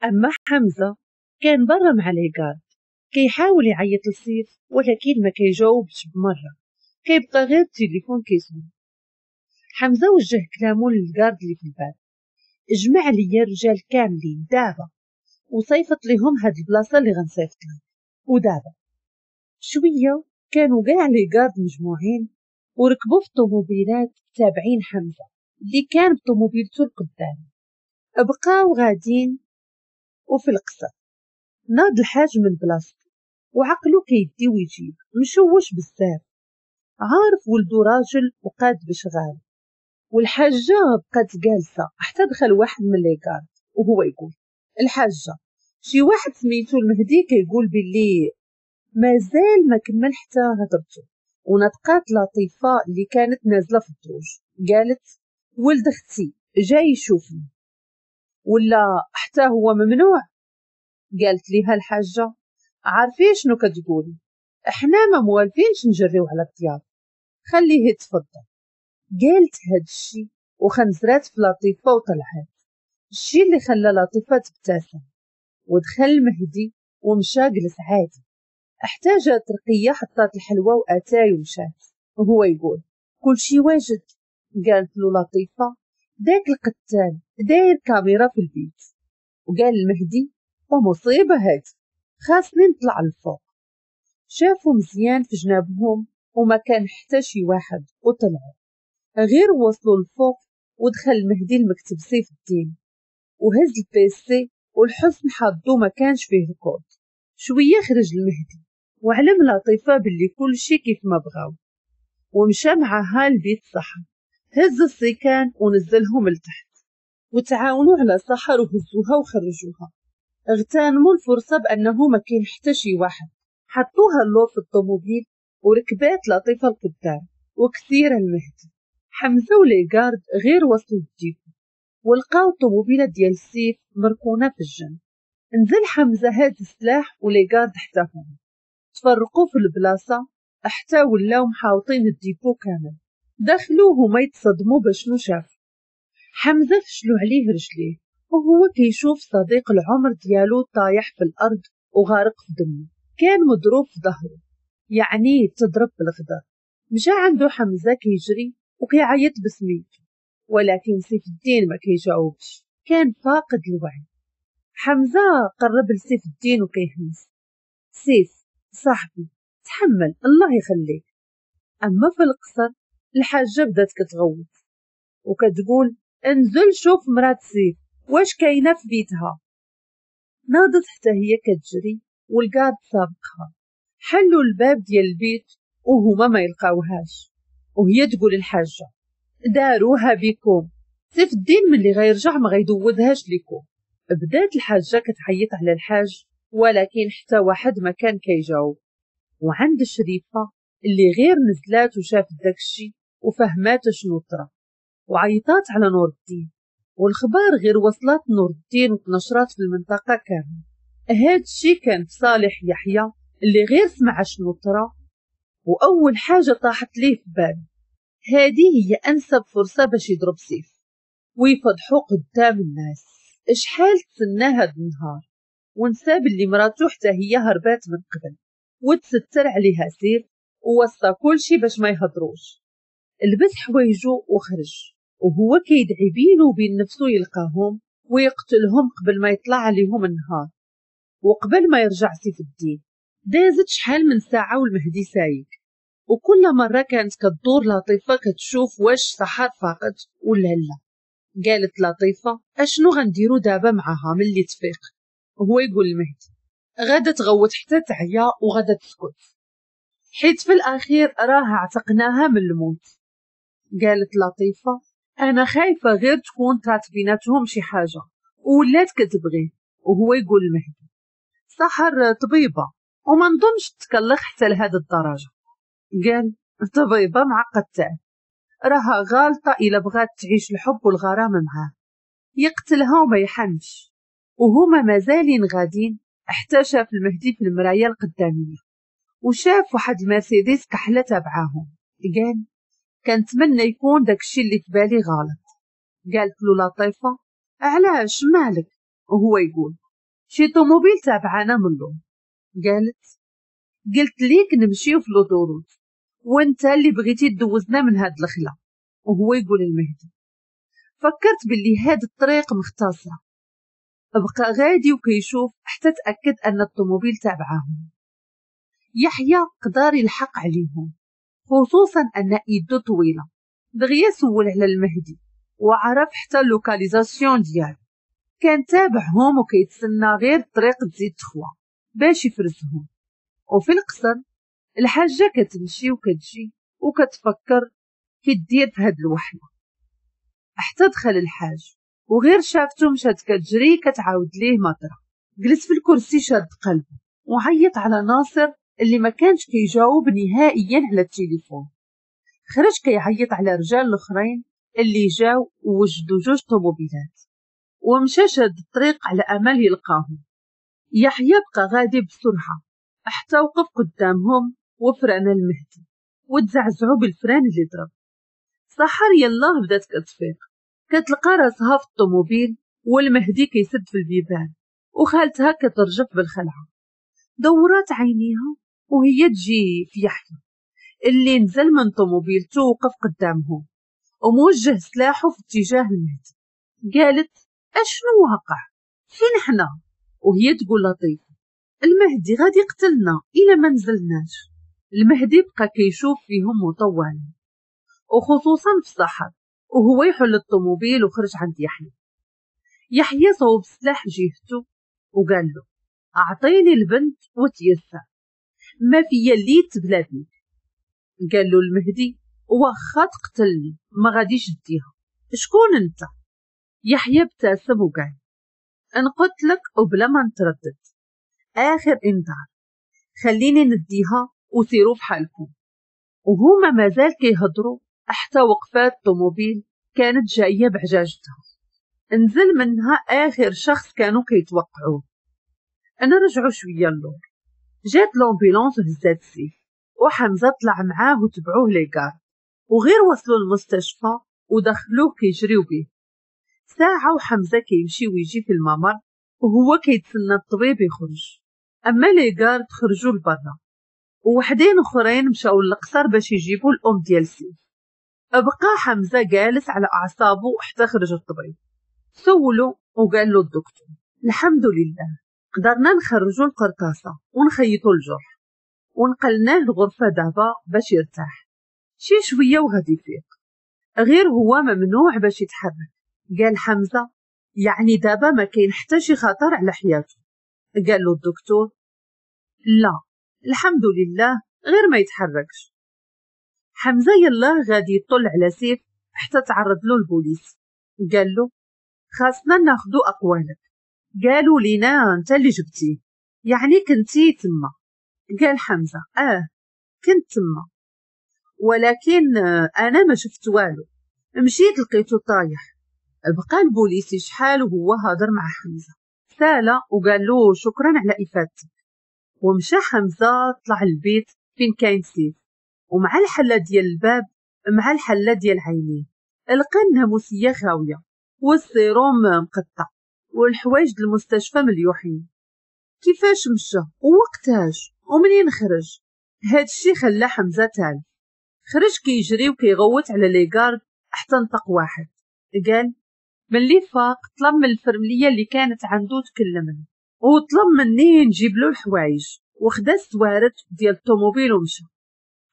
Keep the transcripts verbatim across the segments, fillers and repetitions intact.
اما حمزة كان برا مع les gardes كيحاول يعيط لسيف ولكن ما كيجاوبش بمرة، كيبقى غير التليفون كيصوني. حمزة وجه كلامه لل garde اللي في الباب، اجمع ليا الرجال كاملين دابا وصيفط ليهم هاد البلاصة اللي غنصيفط لك. ودابا شوية كانوا كاع les gardes مجموعين وركبوا في الطوموبيلات تابعين حمزة اللي كان بطوموبيلته القدام. بقاو غادين وفي القصر ناض الحاج من بلاصتو وعقلو كيدي ويجيب، مشوش بزاف، عارف ولدو راجل وقاد بشغال. والحاجة بقات جالسة حتى دخل واحد من les gardes وهو يقول الحاجة شي واحد سميتو المهدي كيقول باللي مازال ما كمل حتى هضرته. ونطقات لطيفة اللي كانت نازلة في الدروج قالت ولد اختي جاي يشوفني ولا حتى هو ممنوع؟ قالت ليها الحاجة عارفين شنو كتقولي، احنا ما موالفينش نجريو على الضياف، خليه يتفضل. قالت هاد الشي وخنزرات في لطيفة وطلعات، الشي اللي خلى لطيفة تبتسم. ودخل المهدي ومشى جلس عادي، احتاجت رقية حطات الحلوى واتاي ومشات. وهو يقول كل شي واجد. قالت له لطيفة داك القتال داير كاميرا في البيت. وقال المهدي ومصيبة هادي، خاصني نطلع للفوق. شافوا مزيان في جنابهم وما كان حتى شي واحد وطلعوا. غير وصلوا للفوق ودخل المهدي المكتب سيف الدين وهز ال PC والحسن حظو ما كانش فيه الكود. شوية خرج المهدي وعلم لطيفة باللي كل شي كيف ما بغاو، ومشى معاها لبيت سحر. هز السيكان ونزلهم لتحت وتعاونوا على سحر وهزوها وخرجوها. اغتنموا الفرصة بأنه ما كاين حتى شي واحد، حطوها اللور في الطوموبيل وركبات لطيفة القدام وكثير المهدي. حمزة و les gardes غير وصلوا لل dépôt ولقاو الطوموبيلة ديال السيف مركونة في الجنب. نزل حمزة هاد السلاح و les gardes حتى هما تفرقوا في البلاصة حتى ولاو محاوطين ال dépôt كامل. دخلوا هما يتصدموا بشنو شافوا. حمزة فشلوا عليه رجليه وهو كيشوف صديق العمر ديالو طايح في الأرض وغارق في دمه، كان مضروب في ظهره يعني تضرب بالغدر. مشى عنده حمزة كيجري وكيعيط بسميته، ولكن سيف الدين ما كيجاوبش، كان فاقد الوعي. حمزة قرب لسيف الدين وكيهمس سيف صاحبي تحمل الله يخليك. أما في القصر الحاجة بدات كتغوت وكتقول انزل شوف مرات سيف واش كاينه في بيتها. ناضت حتى هي كتجري وال garde سابقها. حلوا الباب ديال البيت وهما ما يلقاوهاش، وهي تقول الحاجة داروها بكم، سيف الدين ملي غيرجع ما غيدوزهاش لكم. بدات الحاجة كتعيط على الحاج ولكن حتى واحد ما كان كيجاوب. وعند الشريفة اللي غير نزلات وشافت داكشي وفهمات شنو طرا وعيطات على نور الدين، والخبار غير وصلت نور الدين وتنشرات في المنطقة كامل. هاد الشي كان في صالح يحيى اللي غير سمع شنو طرا وأول حاجة طاحت ليه في باله هذه هي أنسب فرصة باش يضرب سيف ويفضحو قدام الناس. شحال تسنى هاد النهار ونسى باللي مراتو حتى هي هربات من قبل وتستر عليها سيف ووصى كلشي باش ما يهضروش. لبس حوايجو وخرج وهو كيدعي بينه وبين نفسه يلقاهم ويقتلهم قبل ما يطلع عليهم النهار وقبل ما يرجع سيف الدين. دازت شحال من ساعة والمهدي سايق، وكل مرة كانت كدور لطيفة كتشوف واش سحر فاقت ولا لا. قالت لطيفة اشنو غنديرو دابا معاها ملي تفيق؟ وهو يقول المهدي غادا تغوت حتى تعيا وغادا تسكت، حيت في الأخير راه عتقناها من الموت. قالت لطيفة أنا خايفة غير تكون طرات بيناتهم شي حاجة ولات كتبغيه. وهو يقول المهدي سحر طبيبة وما نظنش تكلخ حتى لهذا الدرجة. قال طبيبة معقدته، راها غالطة إلا بغات تعيش الحب والغرام معاه، يقتلها وما يحنش. وهما مازالين غادين حتى شاف المهدي في المراية القدامية وشاف واحد المرسيدس كحلة تبعاهم. قال كنتمنى يكون داكشي اللي في بالي غلط. قالت له لطيفة علاش مالك؟ وهو يقول شي طوموبيل تابعانا من اللور. قالت قلت ليك نمشيو في l'autoroute وانت اللي بغيتي تدوزنا من هاد الخلا. وهو يقول المهدي فكرت باللي هاد الطريق مختصرة. بقى غادي وكيشوف حتى تأكد أن الطوموبيل تابعاهم. يحيى قدر يلحق عليهم، خصوصا أن ايدو طويلة. دغيا سول على المهدي وعرف حتى ال localisation ديالو. كان تابعهم وكيتسنى غير الطريق تزيد تخوى باش يفرزهم. وفي القصر الحاجة كتمشي وكتجي وكتفكر كدير في هاد الوحلة. حتى دخل الحاج وغير شافتو مشات كتجري كتعاود ليه مطرة. جلس في الكرسي شاد قلبه وعيط على ناصر اللي ما كانش كيجاوب نهائيا على التليفون. خرج كيعيط على رجال الاخرين اللي جاو ووجدوا جوج طوموبيلات ومشى شاد الطريق على امل يلقاهم. يحيى بقى غادي بسرعة حتى وقف قدامهم وفران المهدي وتزعزعوا بالفران اللي ضرب. سحر يلاه بدات كتفيق، كتلقى راسها في الطوموبيل والمهدي كيسد في البيبان وخالتها كترجف بالخلعه. دورات عينيها وهي تجي في يحيى اللي نزل من طوموبيلته وقف قدامهم وموجه سلاحه في اتجاه المهدي. قالت اشنو واقع؟ فين حنا؟ وهي تقول لطيفة المهدي غادي يقتلنا إلا ما نزلناش. المهدي بقى كيشوف فيهم مطولا وخصوصا في السحر، وهو يحل الطوموبيل وخرج عند يحيى. يحيى صوب سلاح جهته وقال له اعطيني البنت وتيسر، ما فيا اللي تبلا بيك. قال له المهدي واخا تقتلني ما غاديش ديها، شكون انت؟ يحيى ابتسم وقال نقتلك وبلا ما نتردد، اخر انذار، خليني نديها وسيروا في حالكم. وهما مازال كيهضروا حتى وقفات طوموبيل كانت جاية بعجاجتها، نزل منها اخر شخص كانوا كيتوقعوه. انا رجعوا شوية اللور، جات l'ambulance وهزات سيف وحمزة طلع معاه وتبعوه les gardes، وغير وصلوا المستشفى ودخلوه كيجريو به. ساعة وحمزة كيمشي ويجي في الممر وهو كيتسنى الطبيب يخرج. اما les gardes خرجوا لبرا ووحدين اخرين مشاو للقصر باش يجيبوا الام ديال سيف. بقى حمزة جالس على اعصابه حتى خرج الطبيب. سولو وقال له الدكتور الحمد لله قدرنا نخرجوا القرطاسه ونخيطوا الجرح ونقلناه الغرفة دابا باش يرتاح شي شوية وغادي يفيق، غير هو ممنوع باش يتحرك. قال حمزة يعني دابا ما كاين حتى شي خطر على حياته؟ قال له الدكتور لا الحمد لله غير ما يتحركش. حمزة يلا غادي يطل على سيف حتى تعرض له البوليس. قال له خاصنا ناخدو اقوالك، قالوا لينا انت اللي جبتيه يعني كنتي تما. قال حمزة اه كنت تما ولكن انا ما شفت والو، مشيت لقيته طايح. بقى البوليسي شحال وهو هادر مع حمزة، سالا وقال له شكرا على افادتك. ومشى حمزة طلع البيت فين كاين سيف، ومع الحلة ديال الباب مع الحلة ديال عينيه لقى الناموسيه خاوية والسيروم مقطع والحوايج المستشفى مليوحين. كيفاش مشى ووقتاش ومنين خرج؟ هادشي خلى حمزة تالف. خرج كيجري وكيغوت على les gardes حتى نطق واحد قال ملي فاق طلب من الفرمليه اللي كانت عنده تكلمني وطلب مني نجيب له الحوايج وخدا السوارت ديال الطوموبيل ومشى.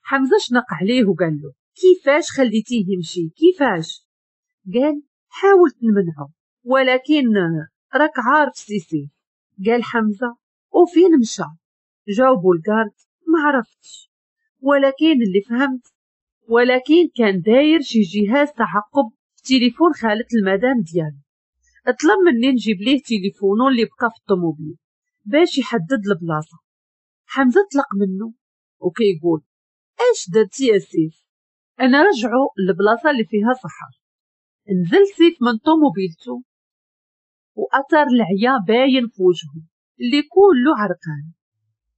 حمزة شنق عليه وقال له كيفاش خليتيه يمشي كيفاش؟ قال حاولت نمنعه ولكن راك عارف سيسي. قال حمزة وفين مشى؟ جاوبوا ال garde ما عرفتش، ولكن اللي فهمت ولكن كان داير شي جهاز تعقب في تليفون خالة المدام ديالو، طلب مني نجيب ليه تليفونو اللي بقى في الطوموبيل باش يحدد البلاصة. حمزة طلق منه وكيقول اش درتي يا سيف؟ انا رجعوا للبلاصه اللي فيها سحر. نزل سيف من طوموبيلته واثر العيا باين في وجهه اللي كله عرقان.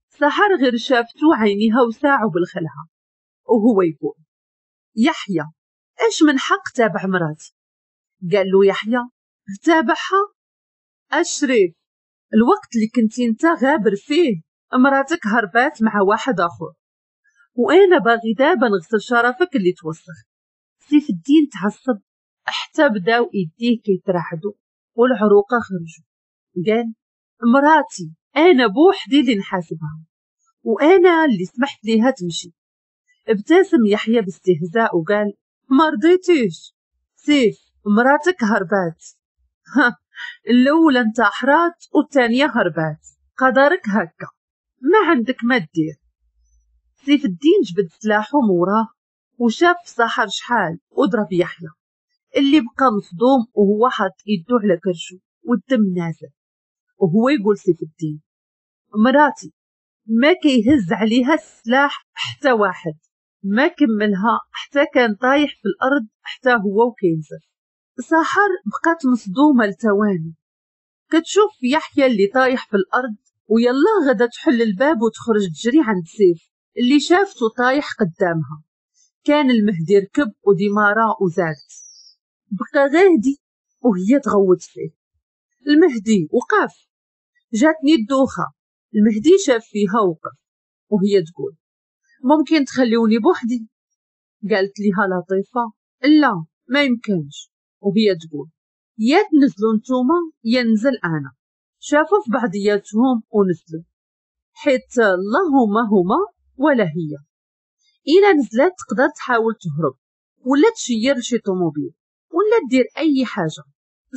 سحر غير شافتو عينيها وساعوا بالخلعه وهو يقول يحيى اش من حق تابع مراتي؟ قال له يحيى تابعها؟ اشرف الوقت اللي كنتي انت غابر فيه مراتك هربات مع واحد اخر، وانا باغي دابا نغسل شرفك اللي توسخ. سيف الدين تعصب حتى بداو ايديه كيترعدوا والعروقه خرجوا. قال مراتي انا بوحدي اللي نحاسبها، وانا اللي سمحت ليها تمشي. ابتسم يحيى باستهزاء وقال ما رضيتيش سيف، مراتك هربات. ها الاولى انتحرات والثانية هربات، قدرك هكا ما عندك ما دير. سيف الدين جبد سلاحه موراه وشاف سحر شحال وضرب يحيى اللي بقى مصدوم وهو حاط يدو على كرشو والدم نازل، وهو يقول سيف الدين مراتي ما كيهز عليها السلاح حتى واحد. ما كملها حتى كان طايح في الارض حتى هو وكينزل. سحر بقات مصدومة لثواني كتشوف يحيى اللي طايح في الارض، ويلا غدا تحل الباب وتخرج تجري عند سيف اللي شافته طايح قدامها. كان المهدي ركب وديمارا وزاد، بقى غادي وهي تغوت فيه. المهدي وقف، جاتني الدوخه. المهدي شاف فيها وقف وهي تقول ممكن تخليوني بوحدي؟ قالت ليها لطيفة لا ما يمكنش، وهي تقول يا تنزلوا نتوما يا ننزل انا. شافوا في بعضياتهم ونزلوا، حيت اللهم هما ولا هي. إلا نزلت تقدر تحاول تهرب ولا تشير لشي طوموبيل ولا دير اي حاجة.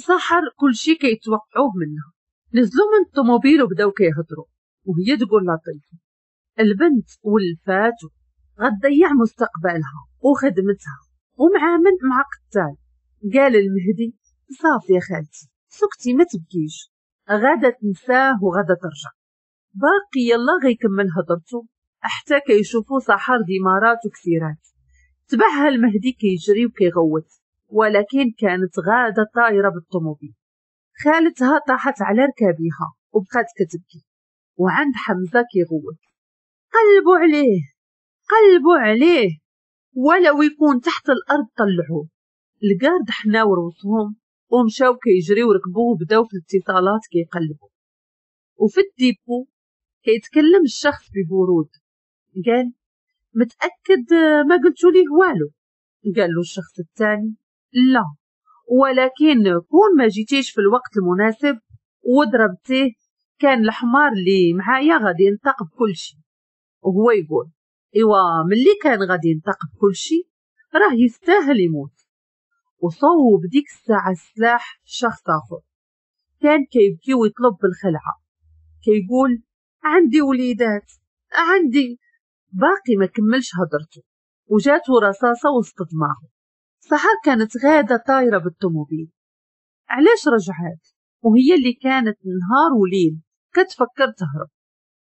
سحر كلشي كيتوقعوه منها. نزلوا من الطوموبيل وبداو كيهضروا، وهي تقول لطيفة البنت ولفاتو غتضيع مستقبلها وخدمتها ومع من مع قتال. قال المهدي صافي يا خالتي سكتي ما تبكيش، غادا تنساه وغادا ترجع. باقي يلا غيكمل هضرته حتى كيشوفوا سحر ديمارات وكثيرات. تبعها المهدي كيجري وكيغوت، ولكن كانت غاده طايره بالطوموبيل. خالتها طاحت على ركابيها وبقات كتبكي، وعند حمزة كيغوت قلبوا عليه قلبوا عليه ولو يكون تحت الارض طلعوه. ال gardes حناو روسهم ومشاو كيجريو ركبوه وبداو في الاتصالات كيقلبوا. وفي ال dépôt كيتكلم الشخص ببرود، قال متأكد ما قلتوا ليه والو؟ قال له الشخص الثاني لا، ولكن كون ما جيتيش في الوقت المناسب وضربتيه كان الحمار اللي معايا غادي ينطق بكل شيء. وهو يقول ايوا ملي كان غادي ينطق بكل شيء راه يستاهل يموت. وصوب ديك الساعة السلاح شخص آخر كان كيبكي ويطلب بالخلعة، كيقول عندي وليدات عندي. باقي ما كملش هضرته وجاته رصاصة وسط دماغه. سحر كانت غادة طايرة بالطوموبيل. علاش رجعات وهي اللي كانت نهار وليل كتفكر تهرب؟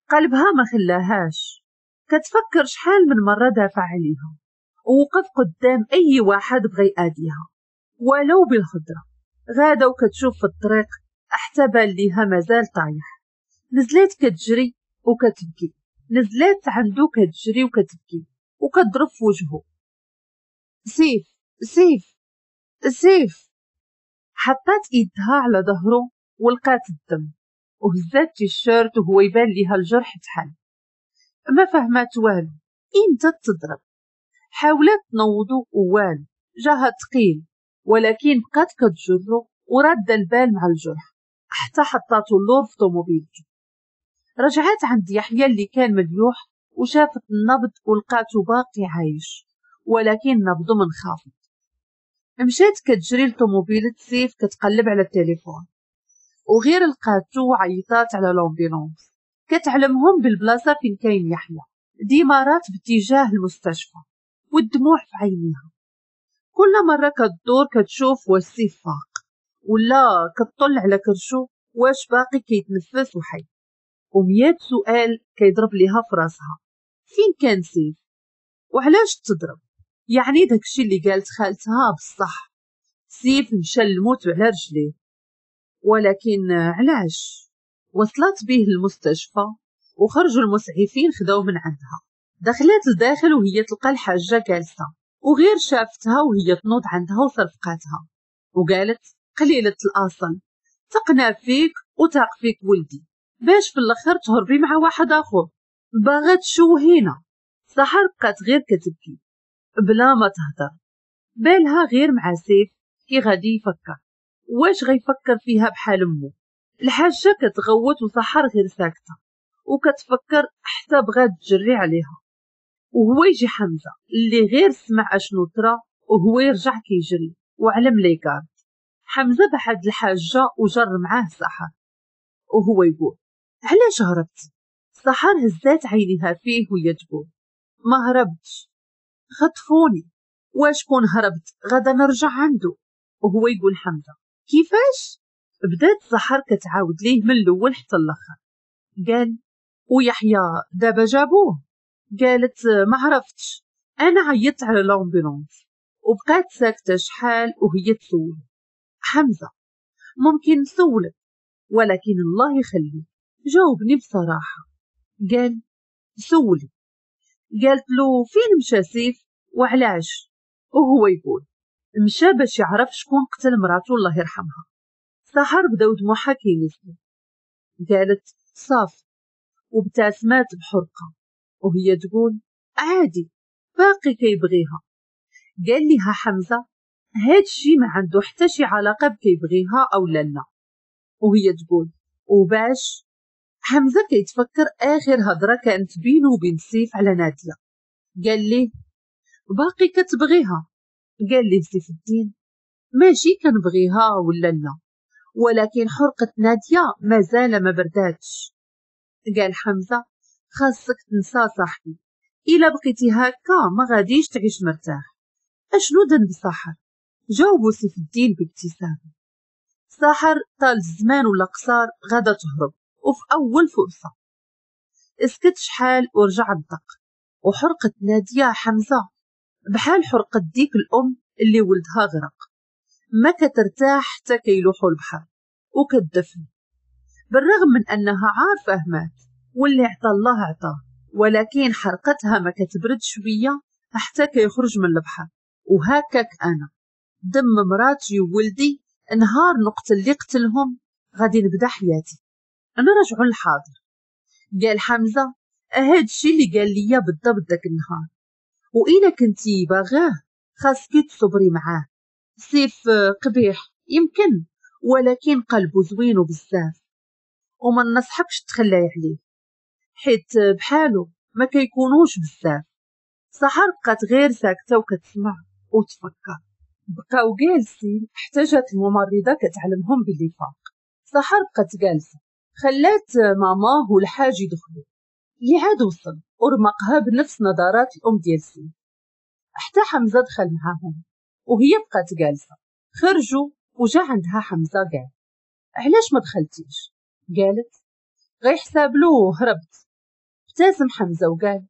قلبها ما خلاهاش، كتفكر شحال من مرة دافع عليها ووقف قدام أي واحد بغى يأذيها ولو بالخضرة. غادة وكتشوف في الطريق حتى بان ليها مازال طايح. نزلات كتجري وكتبكي، نزلات عندو كتجري وكتبكي وكتضرب في وجهه. سيف سيف سيف. حطات ايدها على ظهره ولقات الدم وهزات تيشيرت وهو يبان ليها الجرح تحل. ما فهمات والو، امتى تضرب؟ حاولت تنوضو ووالو، جاها ثقيل، ولكن بقات كتجرو ورادة البال مع الجرح حتى حطاتو اللور في طوموبيلتو. رجعت عند يحيى اللي كان مليوح وشافت النبض ولقاتو باقي عايش، ولكن نبضو منخفض. مشات كتجري لطوموبيلة سيف كتقلب على التليفون، وغير لقاتو عيطات على l'ambulance كتعلمهم بالبلاصه فين كاين يحيى. ديمارات باتجاه المستشفى والدموع في عينيها. كل مرة كتدور كتشوف واش سيف فاق ولا كتطل على كرشو واش باقي كيتنفس وحي، وميات سؤال كيضرب ليها في راسها. فين كان سيف وعلاش تضرب؟ يعني داكشي اللي قالت خالتها بصح، سيف مشى للموت على رجليه، ولكن علاش؟ وصلت به المستشفى وخرجوا المسعفين خداو من عندها. دخلت لداخل وهي تلقى الحاجة جالسة، وغير شافتها وهي تنوض عندها وصرفقاتها وقالت قليلة الأصل، تقنا فيك وتاق فيك ولدي باش في الاخر تهربي مع واحد اخر، باغا تشوهينا. سحر بقات غير كتبكي بلا ما تهضر، بالها غير مع سيف كي غادي يفكر، واش غيفكر فيها بحال امو. الحاجة كتغوت وسحر غير ساكته وكتفكر حتى بغات تجري عليها. وهو يجي حمزة اللي غير سمع اشنو طرا وهو يرجع كيجري وعلم les gardes. حمزة بعد الحاجة وجر معاه سحر وهو يقول علاش هربتي؟ سحر هزات عينيها فيه وهي تقول ما هربتش، خطفوني، واش كون هربت غدا نرجع عنده. وهو يقول حمزة كيفاش؟ بدات سحر كتعاود ليه من الاول حتى الاخر. قال ويحيى دابا جابوه؟ قالت ما عرفتش، انا عيطت على l'ambulance. وبقات ساكته شحال وهي تسول حمزة ممكن نسولك ولكن الله يخليك جاوبني بصراحة. قال سولي. قالت له فين مشى سيف وعلاش؟ وهو يقول مشى باش يعرف شكون قتل مراته الله يرحمها. سحر بداو دموعها كينزلوا. قالت صافي، وابتسمات بحرقه وهي تقول عادي باقي كيبغيها. قال لها حمزة هاد الشي ما عنده حتى شي علاقة بكيبغيها او لا لا. وهي تقول وباش؟ حمزة كيتفكر اخر هضره كانت بينه وبين سيف على ناديه. قال ليه باقي كتبغيها؟ قال ليه سيف الدين ماشي كنبغيها ولا لا، ولكن حرقه ناديه مازال ما برداتش. قال حمزة خاصك تنسى صاحبي، الا بقيتي هكا ما غاديش تعيش مرتاح. اشنو ذنب سحر؟ جاوبوا سيف الدين بابتسامة سحر طال الزمان ولا قصار غادا تهرب وفي اول فرصة. اسكت شحال ورجع نطق وحرقه ناديه حمزة بحال حرقه ديك الام اللي ولدها غرق، ما كترتاح حتى كيلوحوا البحر وكتدفن، بالرغم من انها عارفه مات واللي عطى الله عطاه، ولكن حرقتها ما كتبرد شوية حتى كيخرج من البحر. وهكاك انا دم مراتي وولدي نهار نقتل اللي قتلهم غادي نبدا حياتي. انا رجعوا للحاضر. قال حمزة هاد الشيء اللي قال ليا بالضبط داك النهار، وإلا كنتي باغاه خاصك تصبري معاه. سيف قبيح يمكن، ولكن قلبه زوين وبزاف، وما نصحكش تخلي عليه حيت بحالو ما كيكونوش بزاف. سحر بقات غير ساكته وكتسمع وتفكر. بقاو جالسين حتى جات الممرضة كتعلمهم باللي فاق. سحر بقات جالسة خلات ماماه والحاج يدخلوا، اللي عاد وصل ورمقها بنفس نظرات الام ديال سيف. حتى حمزة دخل معاهم وهي بقات جالسة. خرجوا وجا عندها حمزة قال علاش ما دخلتيش؟ قالت غيحساب له هربت. ابتسم حمزة وقال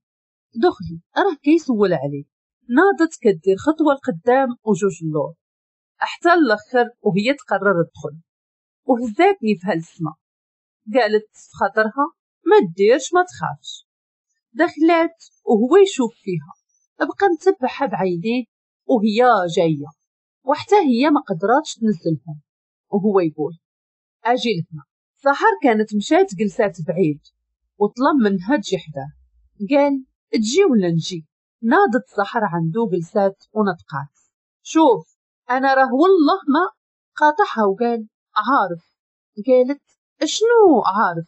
دخلي راه كيسول عليك. ناضت كدير خطوة لقدام وجوج اللور حتى الاخر وهي تقرر تدخل، وهزاتني في هالسما. قالت في خاطرها ما ديرش ما تخافش. دخلات وهو يشوف فيها، بقى متبعها بعينيه وهي جاية، وحتى هي ما قدراتش تنزلهم. وهو يقول اجي لهنا. سحر كانت مشات جلسات بعيد وطلب منها تجي حداه. قال تجي ولا نجي؟ ناضت سحر عنده جلسات ونطقات شوف انا راه والله ما قاطعها وقال عارف. قالت شنو عارف؟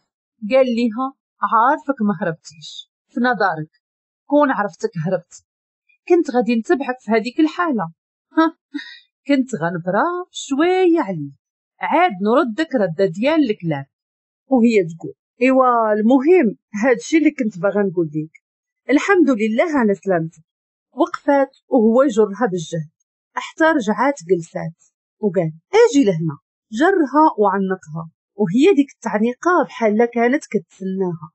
قال ليها عارفك ما هربتيش في نظرك، كون عرفتك هربت كنت غادي نتبعك في هذيك الحالة، كنت غنبرا شوية عليك عاد نردك رده ديال الكلاب. وهي تقول ايوا المهم هادشي اللي كنت باغا نقول لك، الحمد لله على سلامتك. وقفات وهو يجرها بالجهد حتى رجعات جلسات وقال اجي لهنا. جرها وعنقها وهي ديك التعنيقه بحال كانت كتسناها،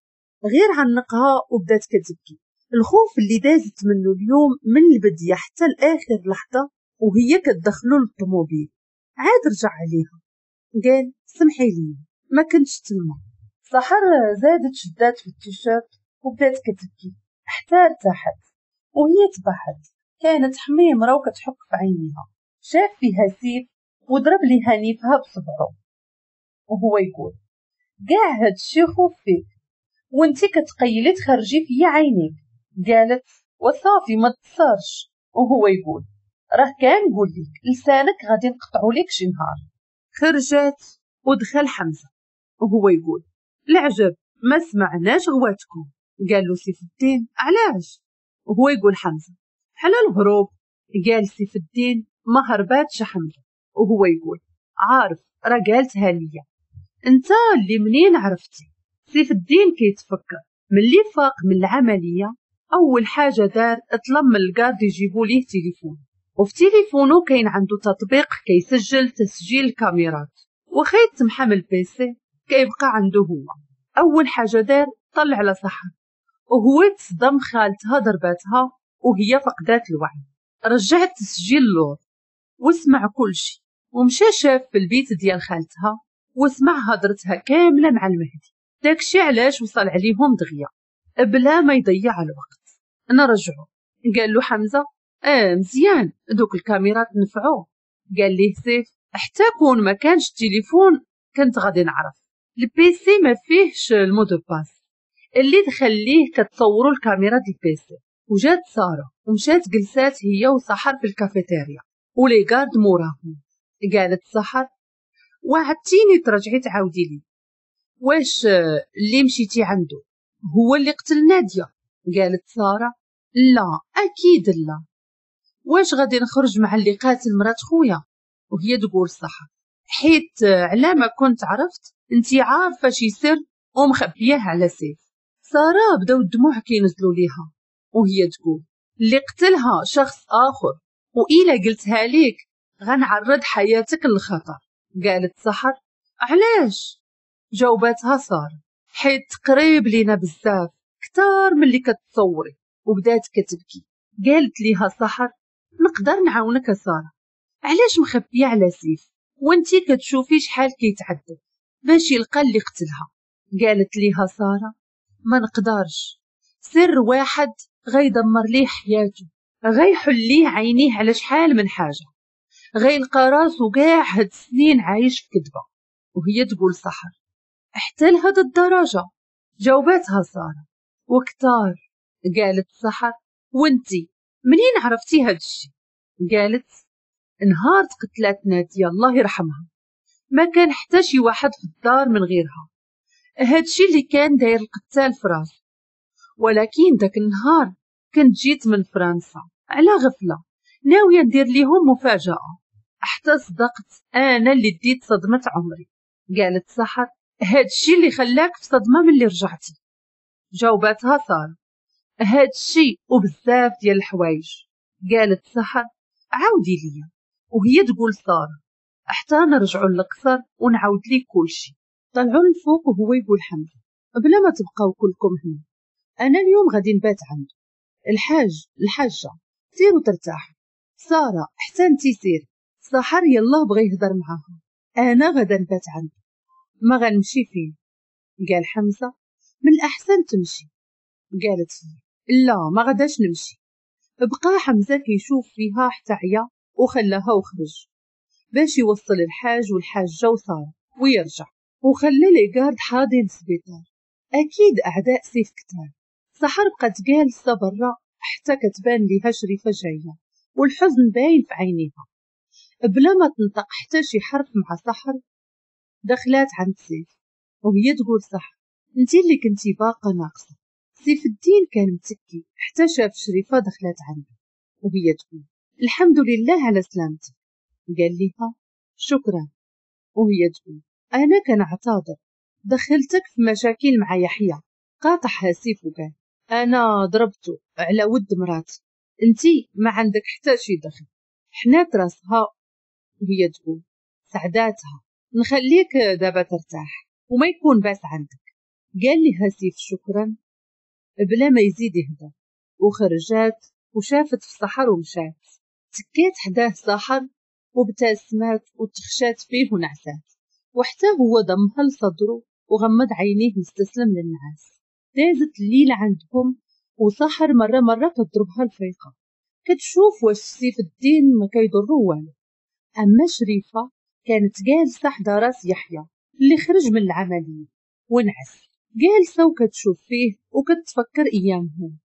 غير عنقها وبدات كتبكي. الخوف اللي دازت منه اليوم من البداية حتى لاخر لحظة وهي كتدخلو للطوموبيل. عاد رجع عليها قال سمحي لي ما كنتش تما. سحر زادت شدات في التيشيرت وبدات كتبكي حتى ارتاحت وهي تبعد. كانت حميمره وكتحك في عينيها. شاف فيها سيف وضرب ليها نيفها بصبعه وهو يقول كاع هادشي خوف فيك وانتي كتقيلي تخرجي فيا عينيك. قالت وصافي ما تصرش. وهو يقول راه كنقول لك لسانك غادي نقطعو لك شي نهار. خرجت ودخل حمزة وهو يقول العجب ما سمعناش غواتكم. قال له سيف الدين علاش؟ وهو يقول حمزة على الهروب. قال سيف الدين ما هرباتش حمزة. وهو يقول عارف راه قالتها ليا، انت اللي منين عرفتي؟ سيف الدين كيتفكر ملي فاق من العملية اول حاجة دار طلب من ال garde يجيبوا ليه تليفون، وفي تليفونه كاين عنده تطبيق كيسجل تسجيل الكاميرات، وخا يتمحى من ال PC كيبقى عنده هو. اول حاجة دار طلع على سحر وهو تصدم، خالتها ضرباتها وهي فقدات الوعي. رجع التسجيل لور وسمع كلشي، ومشى شاف في البيت ديال خالتها وسمع هضرتها كاملة مع المهدي. داكشي علاش وصل عليهم دغيا بلا ما يضيع الوقت. نرجعو. قال له حمزة اه مزيان دوك الكاميرات نفعو. قال ليه سيف حتى كون ما كانش التليفون كنت غادي نعرف، ال PC ما فيهش ال mot de passe اللي دخل ليه كتصوروا الكاميرا ديال ال PC. وجات ساره ومشات جلسات هي وسحر في الكافيتيريا و les gardes موراهم. قالت سحر وعدتيني ترجعي تعاودي لي، واش اللي مشيتي عنده هو اللي قتل ناديه؟ قالت ساره لا اكيد لا، واش غادي نخرج مع اللي قاتل مرات خويا؟ وهي تقول سحر حيت على ما كنت عرفت انتي عارفه شي سر ومخبياه على سيف. ساره بداو الدموع كينزلوا ليها وهي تقول اللي قتلها شخص اخر، وإلا قلتها ليك غنعرض حياتك للخطر. قالت سحر علاش؟ جاوباتها ساره حيت قريب لينا بزاف كتار من اللي كتصوري. وبدات كتبكي. قالت ليها سحر نقدر نعاونك ساره، علاش مخبيه على سيف وانتي كتشوفي شحال كيتعذب باش يلقى اللي قتلها؟ قالت ليها ساره ما نقدرش، سر واحد غيدمر ليه حياته، غيحل ليه عينيه على شحال من حاجة، غيلقى راسو كاع هاد السنين عايش في كذبه. وهي تقول سحر حتى لهاد الدرجة؟ جاوباتها ساره وكتار. قالت سحر وانتي منين عرفتي هاد الشي؟ قالت نهار تقتلات ناديه الله يرحمها ما كان حتى شي واحد في الدار من غيرها، هادشي اللي كان داير القتال في راسو. ولكن داك النهار كنت جيت من فرنسا على غفلة ناوية ندير ليهم مفاجاة، حتى صدقت انا اللي ديت صدمة عمري. قالت سحر هادشي اللي خلاك في صدمة من اللي رجعتي؟ جاوباتها ساره هادشي وبزاف ديال الحوايج. قالت سحر عاودي ليا. وهي تقول ساره حتى نرجعوا للقصر ونعاود ليك كلشي. طلعوا للفوق وهو يقول حمزة بلا ما تبقاو كلكم هنا، انا اليوم غادي نبات عنده الحاج الحاجة، سيروا ترتاحوا. ساره حتى انتي سيري. سحر يلا بغى يهضر معاها، انا غادا نبات عنده ما غنمشي فين. قال حمزة من الاحسن تمشي. قالت هي لا ما غاداش نمشي. بقى حمزة كيشوف فيها حتى عيا وخلاها وخرج باش يوصل الحاج والحاجة وسارة ويرجع، وخلى les gardes حاضين السبيطار اكيد اعداء سيف كتار. سحر بقات جالسة برا حتى كتبان ليها شريفه جاية والحزن باين في عينيها. بلا ما تنطق حتى شي حرف مع سحر دخلات عند سيف وهي تقول سحر انتي اللي كنتي باقه ناقصه. سيف الدين كان متكي حتى شاف شريفه دخلات عنده وهي تقول الحمد لله على سلامتك. قال لها شكرا. وهي تقول انا كنعتذر دخلتك في مشاكل مع يحيى. قاطعها سيف وقال انا ضربته على ود مراتي، انتي ما عندك حتى شي دخل. حنات راسها وهي تقول سعداتها نخليك دابا ترتاح وما يكون باس عندك. قال لها سيف شكرا بلا ما يزيد يهدى، وخرجات وشافت في سحر ومشات. تكات حداه سحر وابتسمات وتخشات فيه ونعسات، وحتى هو ضمها لصدره وغمض عينيه مستسلم للنعاس. دازت الليلة عندهم وسحر مرة مرة كتضربها الفيقة كتشوف واش سيف الدين ما كيضرو والو. أما شريفة كانت جالسة حدا راس يحيى اللي خرج من العملية ونعس. جالسة وكتشوف فيه وكتفكر ايامهم،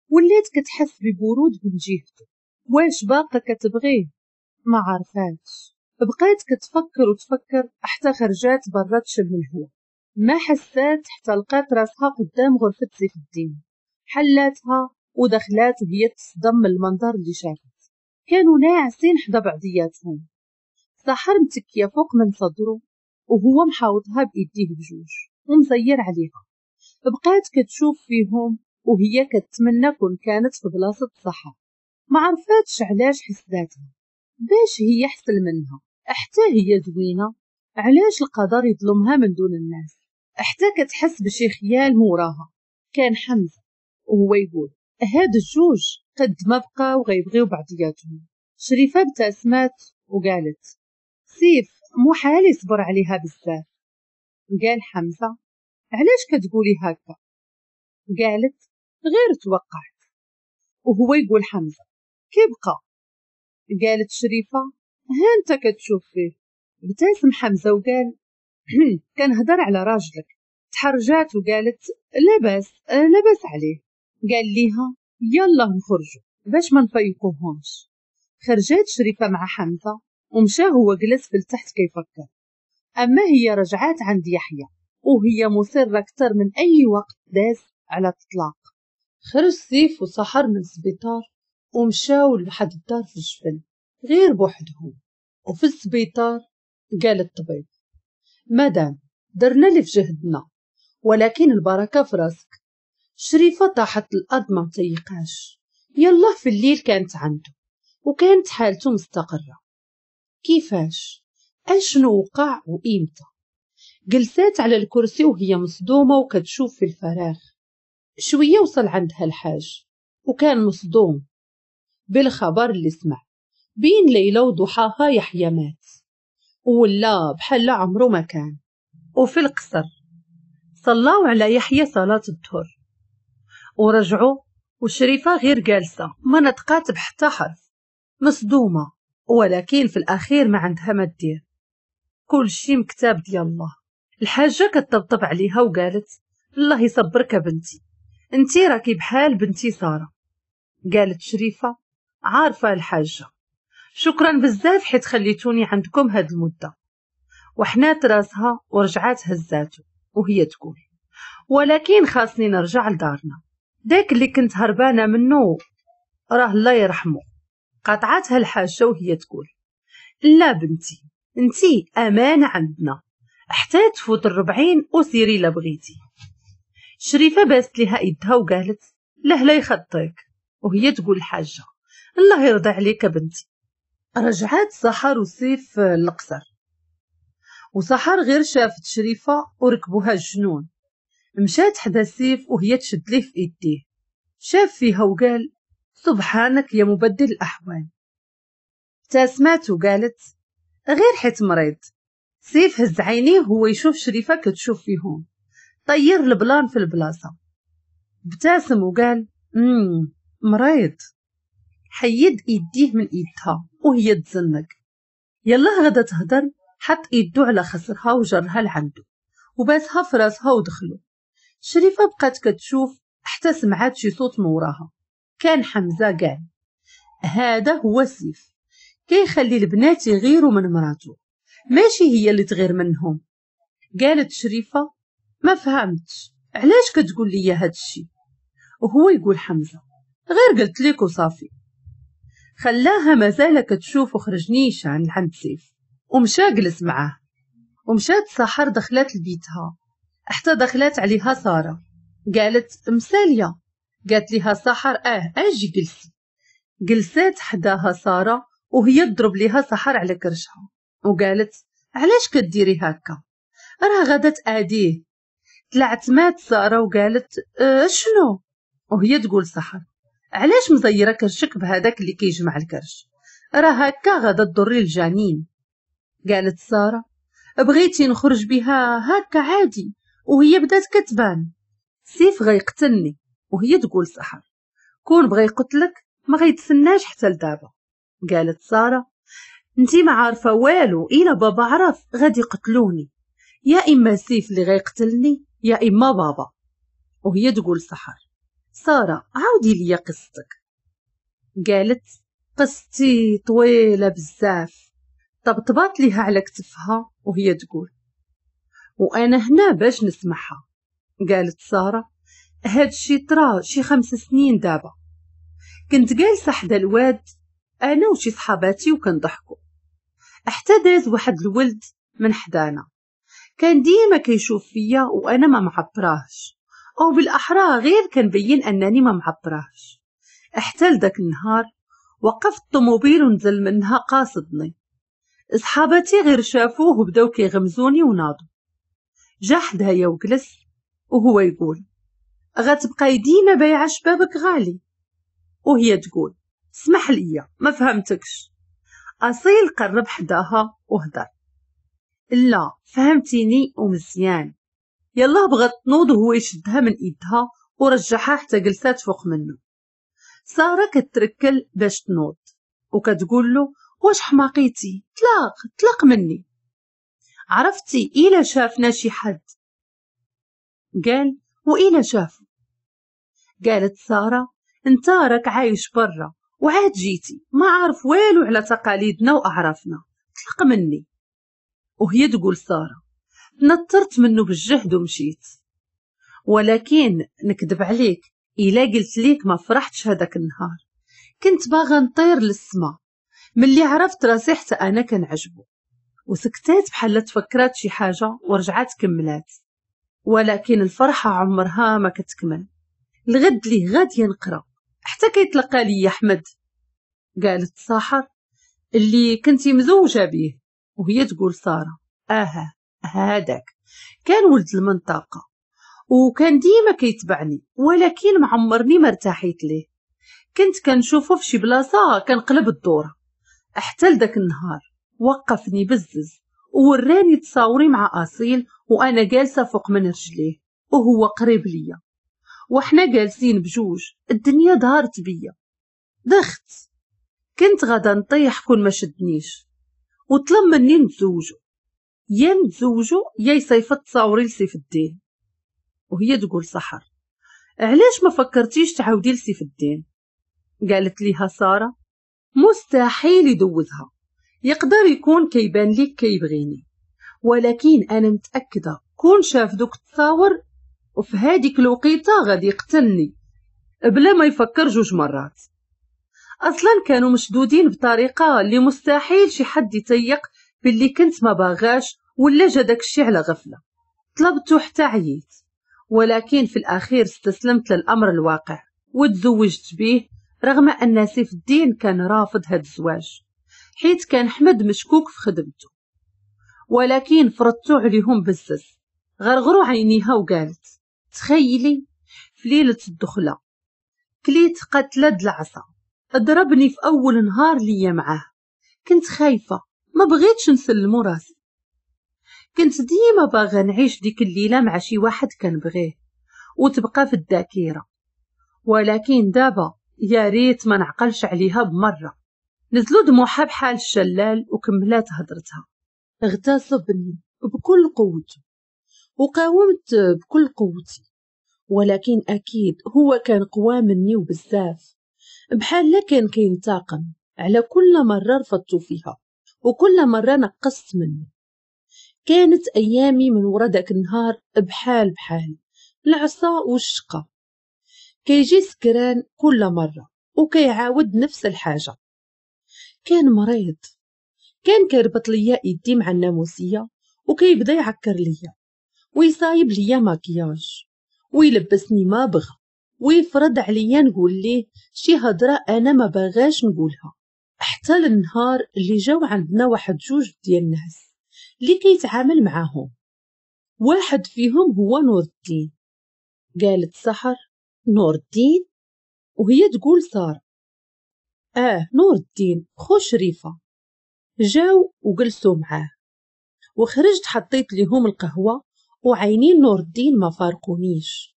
ولات كتحس ببرود من جهته. واش باقا كتبغيه؟ ما عرفاتش. بقات كتفكر وتفكر حتى خرجات برا تشم الهواء. ما حسات حتى لقات راسها قدام غرفة سيف الدين. حلاتها ودخلات وهي تصدم من المنظر اللي شافت. كانوا ناعسين حدا بعضياتهم، سحر متكية فوق من صدره وهو محاوطها بإيديه بجوج ومزير عليها. بقات كتشوف فيهم وهي كتمنى كون كانت في بلاصة سحر. ما عرفاتش علاش حسداتها، باش هي حسن منها، حتى هي زوينة، علاش القدر يظلمها من دون الناس؟ حتى كتحس بشي خيال موراها. كان حمزة وهو يقول هاد الجوج قد ما بقاو غيبغيو بعضياتهم. شريفة ابتسمات وقالت سيف محال يصبر عليها بزاف. قال حمزة علاش كتقولي هكا؟ قالت غير توقعت. وهو يقول حمزة كيبقى؟ قالت شريفة ها انت كتشوف فيه. ابتسم حمزة وقال كنهضر على راجلك. تحرجات وقالت لاباس لاباس عليه. قال ليها يلا نخرجوا باش ما نفيقوهمش. خرجات شريفة مع حمزة ومشى هو جلس في التحت كيفكر. أما هي رجعات عند يحيى وهي مصرة أكثر من أي وقت داز على الطلاق. خرج سيف وسحر من السبيطار ومشاو لواحد الدار في الجبل غير بوحدهم. وفي السبيطار قال الطبيب مدام درنا اللي في جهدنا ولكن البركة في راسك. شريفة طاحت الأرض ما مطيقاش. يلا في الليل كانت عنده وكانت حالته مستقرة. كيفاش؟ اشنو وقع وإمتى؟ جلسات على الكرسي وهي مصدومة وكتشوف في الفراغ. شوية وصل عندها الحاج وكان مصدوم بالخبر اللي سمع. بين ليلة وضحاها يحيى مات ولا بحال عمره ما كان. وفي القصر صلاو على يحيى صلاة الظهر ورجعوا، وشريفة غير جالسة ما نطقات بحتى حرف، مصدومة، ولكن في الأخير ما عندها ما دير، كل شي مكتاب ديال الله. الحاجة كتطبطب عليها وقالت الله يصبرك بنتي، انتي راكي بحال بنتي سارة. قالت شريفة عارفة الحاجة، شكرا بزاف حيت خليتوني عندكم هاد المدة. وحنات راسها ورجعات هزاتو وهي تقول ولكن خاصني نرجع لدارنا، داك اللي كنت هربانة منه راه الله يرحمه. قاطعتها الحاجة وهي تقول لا بنتي، انتي أمانة عندنا حتى تفوت الربعين وسيري لا بغيتي. شريفة باست لها ايدها وقالت له لا يخطيك، وهي تقول الحاجة الله يرضى عليك بنتي. رجعات سحر وسيف للقصر، وسحر غير شافت شريفة وركبوها الجنون. مشات حدا سيف وهي تشد ليه في ايديه. شاف فيها وقال سبحانك يا مبدل الأحوال. ابتسمات وقالت غير حيت مريض. سيف هز عينيه وهو يشوف شريفة كتشوف فيهم، طير ال plan في البلاصة. ابتسم وقال امم مريض. حيد ايديه من ايدها وهي تزنق. يلا غدا تهدر، حط ايدو على خصرها وجرها لعنده وباسها في راسها ودخلو. شريفة بقات كتشوف حتى سمعات شي صوت موراها. كان حمزة قال هذا هو سيف، كيخلي البنات يغيروا من مراته، ماشي هي اللي تغير منهم. قالت شريفة ما فهمتش علاش كتقول لي هاد الشي؟ وهو يقول حمزة غير قلت لك وصافي. خلاها مازال كتشوف وخرج نيشان عند سيف ومشى جلس معاه. ومشات سحر دخلت لبيتها حتى دخلت عليها سارة. قالت مسالية. قالت لها سحر اه اجي جلسي. جلسات حداها سارة وهي تضرب ليها سحر على كرشها وقالت علاش كديري هكا، راه غادا تاديه. طلعت مات سارة وقالت اه شنو؟ وهي تقول سحر علاش مزيره كرشك بهذاك اللي كيجمع الكرش، راه هكا غادا تضري الجنين. قالت سارة بغيتي نخرج بها هكا عادي، وهي بدات كتبان سيف غيقتلني. وهي تقول سحر كون بغى يقتلك ما غيتسناش حتى لدابا. قالت سارة انتي ما عارفه والو، الا بابا عرف غادي يقتلوني. يا اما سيف اللي غيقتلني يا اما بابا. وهي تقول سحر ساره عاودي لي قصتك. قالت قصتي طويلة بزاف. طبطبات ليها على كتفها وهي تقول وانا هنا باش نسمعها. قالت ساره هادشي طرا شي خمس سنين دابا، كنت جالسة حدا الواد انا وشي صحاباتي وكنضحكوا، حتى داز واحد الولد من حدانا كان ديما كيشوف فيا وانا ما معبراهش، او بالاحرى غير كنبين انني ما معبراهش. حتى لداك النهار وقفت الطوموبيل ونزل منها قاصدني. صحاباتي غير شافوه وبداو كيغمزوني وناضوا. جا حدايا وجلس وهو يقول غتبقاي ديما بايعه شبابك غالي. وهي تقول اسمح لي ما فهمتكش. اصيل قرب حداها وهدر لا فهمتيني ومزيان. يلا بغات تنوض وهو يشدها من ايدها ورجعها حتى جلسات فوق منه. ساره كتركل باش تنوض وكتقول له واش حماقيتي، طلاق طلاق مني، عرفتي إلا شافنا شي حد. قال وإلا شافو. قالت ساره انت راك عايش برا وعاد جيتي ما عارف والو على تقاليدنا واعرافنا، طلق مني. وهي تقول ساره نطرت منه بالجهد ومشيت، ولكن نكذب عليك إلا قلت ليك ما فرحتش هذاك النهار، كنت باغا نطير للسما ملي عرفت راسي حتى انا كنعجبو. وسكتات بحال تفكرات شي حاجة ورجعات كملات، ولكن الفرحة عمرها ما كتكمل. الغد ليه غادي نقرا حتى كيتلقى لي احمد. قالت سحر اللي كنتي مزوجه به. وهي تقول ساره اها هذاك كان ولد المنطقة وكان ديما كيتبعني، ولكن معمرني ما ارتاحيت ليه، كنت كنشوفه في شي بلاصة كنقلب الدورة. حتى لداك النهار وقفني بزز ووراني تصاوري مع اصيل وانا جالسة فوق من رجليه وهو قريب ليا، وحنا جالسين بجوج، الدنيا دارت بيا، دخت، كنت غادا نطيح كون ما شدنيش. وطلب مني نتزوجو، يا نتزوجو يا يصيفط تصاوري لسيف الدين. وهي تقول سحر علاش ما فكرتيش تعاودي لسيف الدين؟ قالت ليها ساره مستحيل يدوزها، يقدر يكون كيبان ليك كيبغيني، ولكن انا متاكدة كون شاف دوك التصاور وفي هذيك الوقيته غادي يقتلني بلا ما يفكر جوج مرات. اصلا كانوا مشدودين بطريقة اللي مستحيل شي حد يتيق باللي كنت ما باغاش ولا جا داكشي على غفلة. طلبته حتى عييت، ولكن في الاخير استسلمت للامر الواقع وتزوجت به، رغم ان سيف الدين كان رافض هاد الزواج حيت كان حمد مشكوك في خدمته، ولكن فرضتو عليهم بزز. غرغروا عينيها وقالت تخيلي في ليلة الدخلة كليت قتله د العصا، ضربني في اول نهار ليا معاه، كنت خايفة ما بغيتش نسلمو راسي، كنت ديما باغا نعيش ديك الليلة مع شي واحد كنبغيه وتبقى في الذاكرة، ولكن دابا يا ريت ما نعقلش عليها بمرة. نزلوا دموعها بحال الشلال وكملات هضرتها. اغتصبني بكل قوته وقاومت بكل قوتي، ولكن اكيد هو كان قوى مني وبزاف، بحال لا كان كينتقم على كل مرة رفضت فيها وكل مرة نقصت منه. كانت ايامي من ورا داك النهار بحال بحال العصا والشقه، كيجي سكران كل مرة وكيعاود نفس الحاجة. كان مريض، كان كيربط ليا ايدي مع الناموسيه وكيبدا يعكر ليا ويصايب ليا ماكياج ويلبسني ما بغى ويفرض عليا نقول ليه شي هضره انا ما باغاش نقولها. حتى للنهار اللي جاو عندنا واحد جوج ديال الناس اللي كيتعامل معاهم، واحد فيهم هو نور الدين. قالت سحر نور الدين؟ وهي تقول ساره اه نور الدين خو شريفه. جاو وجلسوا معاه وخرجت حطيت ليهم القهوة وعينين نور الدين ما فارقونيش.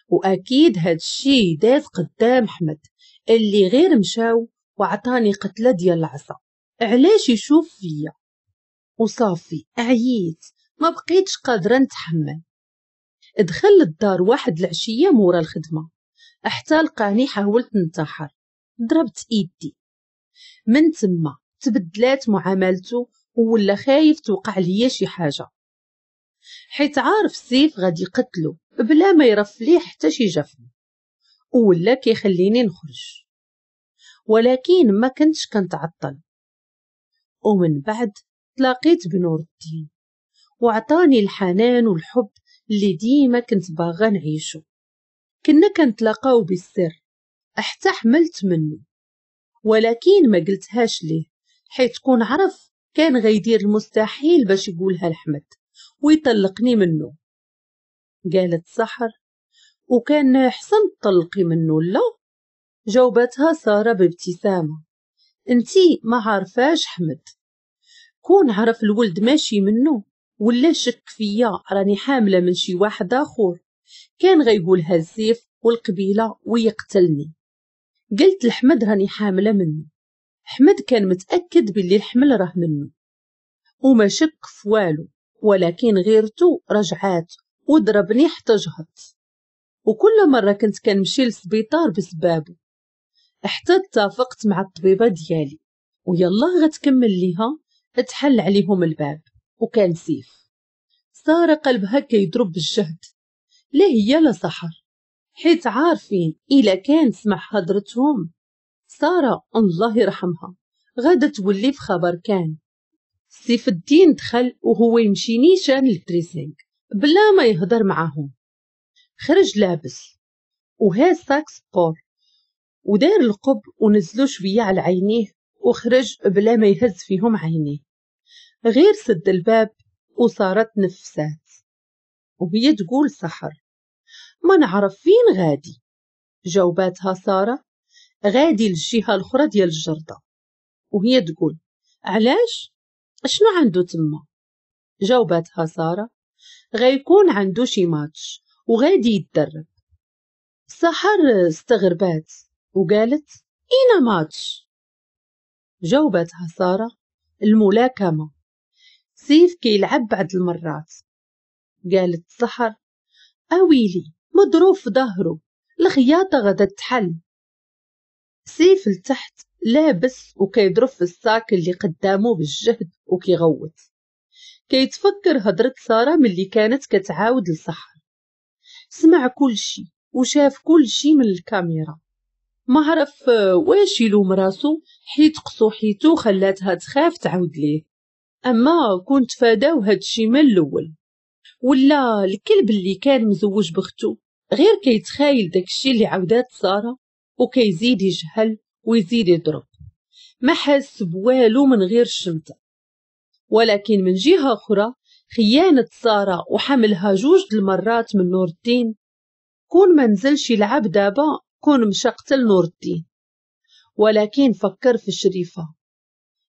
واكيد هاد الشي داز قدام احمد اللي غير مشاو وعطاني قتله ديال العصا علاش يشوف فيا. وصافي عييت ما بقيتش قادرة نتحمل. دخل للدار واحد العشية مورا الخدمة حتى لقاني حاولت ننتحر، ضربت ايدي. من تما تبدلات معاملته ولا خايف توقع ليا شي حاجة، حيت عارف سيف غادي يقتلو بلا ما يرف ليه حتى شي جفن، ولا كيخليني نخرج. ولكن ما كنتش كنتعطل. ومن بعد تلاقيت بنور الدين وعطاني الحنان والحب اللي ديما كنت باغا نعيشو. كنا كنتلاقاو بالسر حتى حملت منه، ولكن ما قلتهاش ليه حيت كون عرف كان غيدير المستحيل باش يقولها لحمد ويطلقني منه. قالت سحر وكان حسن تطلقي منه لا؟ جاوبتها سارة بابتسامة انتي ما عارفاش حمد، كون عرف الولد ماشي منه ولا شك فيا راني حاملة من شي واحد آخر كان غيقولها السيف والقبيلة ويقتلني. قلت لحمد راني حاملة منه، حمد كان متأكد باللي الحمل راه منه وما شك في والو، ولكن غيرته رجعات وضربني حتى جهضت. وكل مرة كنت كنمشي للسبيطار بسبابه حتى اتفقت مع الطبيبة ديالي، ويلا غتكمل ليها تحل عليهم الباب. وكان سيف. سارة قلبها كيضرب بالجهد، لا هي لا سحر، حيت عارفين إلا كان سمع هضرتهم سارة الله يرحمها غادا تولي في خبر كان. سيف الدين دخل وهو يمشي نيشان لل dressing بلا ما يهضر معاهم. خرج لابس وهاز sac sport ودار القب ونزلو شوية على عينيه وخرج بلا ما يهز فيهم عينيه. غير سد الباب وصارت نفسات وهي تقول سحر ما نعرف فين غادي. جاوباتها سارة غادي للجهة الأخرى ديال الجردة. وهي تقول علاش، شنو عنده تما؟ جاوباتها سارة غيكون عنده شي ماتش وغادي يتدرب. سحر استغربات وقالت اين ماتش؟ جاوبتها سارة الملاكمة، سيف كيلعب بعض المرات. قالت سحر اويلي مضروب في ظهره، الخياطة غدا تحل. سيف لتحت لابس وكيضرب في ال sac اللي قدامه بالجهد وكيغوت، كيتفكر هضرة سارة ملي كانت كتعاود لسحر. سمع كل شي وشاف كل شي من الكاميرا، ما عرف واش يلوم راسو حيت قصوحيتو خلاتها تخاف تعاود ليه. اما كنت فاداو هادشي من الاول، ولا الكلب اللي كان مزوج بختو غير كيتخايل داكشي اللي عاودات سارة وكيزيد يجهل ويزيد يضرب، ما حاس بوالو من غير الشمتة. ولكن من جهة أخرى خيانة سارة وحملها جوج المرات من نور الدين، كون ما نزلش يلعب دابا كون مشى قتل نور الدين. ولكن فكر في شريفة،